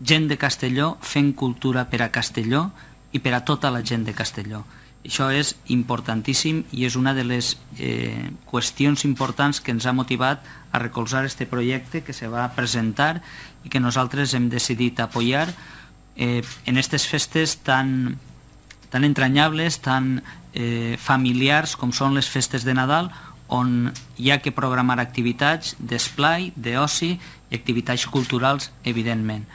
gent de Castelló fent cultura per a Castelló i per a tota la gent de Castelló. Això és importantíssim i és una de les qüestions importants que ens ha motivat a recolzar aquest projecte que se va presentar i que nosaltres hem decidit apoyar en aquestes festes tan entranyables, tan familiars com són les festes de Nadal, on hi ha que programar activitats d'esplai, d'oci i activitats culturals, evidentment.